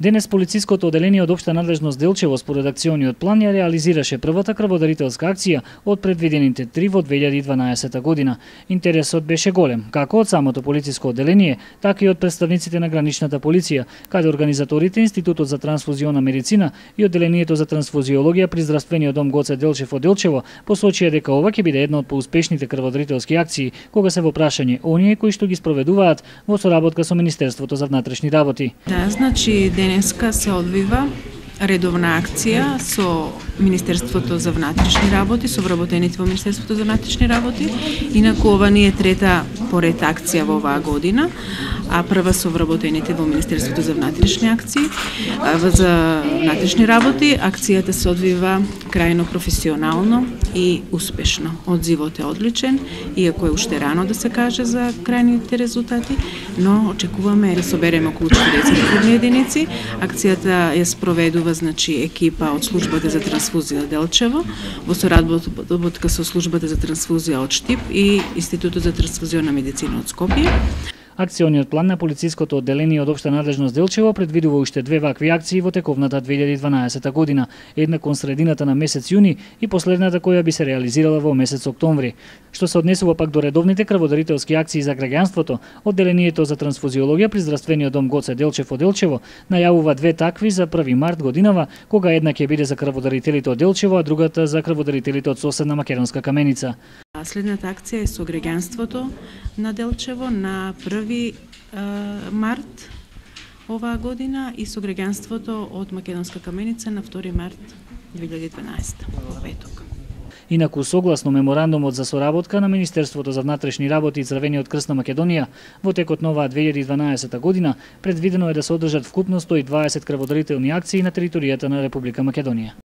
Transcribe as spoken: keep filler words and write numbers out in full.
Денес полициското оделение од општа надлежност Делчево според акциониот план ја реализираше првата крводарителска акција од предвидените три во две илјади и дванаесета година. Интересот беше голем, како од самото полициско оделение, така и од представниците на граничната полиција, каде организаторите Институтот за трансфузиона медицина и одделението за трансфузиологија при здравствениот дом Гоце Делчев од Делчево посочија дека ова ќе биде една од поуспешните крводарителски акции кога се во прашање оние кои што ги спроведуваат во соработка со Министерството за внатрешни работи. Да, значи денеска се одвива редовна акција со Министерството за внатрешни работи, со вработените во Министерството за внатрешни работи. Инаку ова не е трета поред акција во оваа година, а прва со вработените во Министерството за внатрешни акции, за внатрешни работи. Акцијата се одвива крајно професионално и успешно. Одзивот е одличен, иако е уште рано да се каже за крајните резултати, но очекуваме да собереме околу четириесет крвни единици. Акцијата ја спроведува значи екипа од службата за трансфузија Делчево во соработка со службата за трансфузија од Штип и Институтот за трансфузиона медицина од Скопје. Акциониот план на полициското одделение од општа надлежност Делчево предвидува уште две вакви акции во тековната две илјади и дванаесета година, една кон средината на месец јуни и последната која би се реализирала во месец октомври. Што се однесува пак до редовните крводарителски акции за граѓанството, одделението за трансфузиологија при здравствениот дом Гоце Делчев од Делчево најавува две такви за први март годинава, кога една ќе биде за крводарителите од Делчево, а другата за крводарителите од соседна Македонска Каменица. Следната акција е со граѓанството на Делчево на први март оваа година и со граѓанството од Македонска Каменица на втори март две илјади и дванаесета, петок. Инаку, согласно меморандумот за соработка на Министерството за внатрешни работи и Црвениот крст на Македонија, во текот на оваа две илјади и дванаесета година предвидено е да се одржат вкупно сто и дваесет крводарителни акции на територијата на Република Македонија.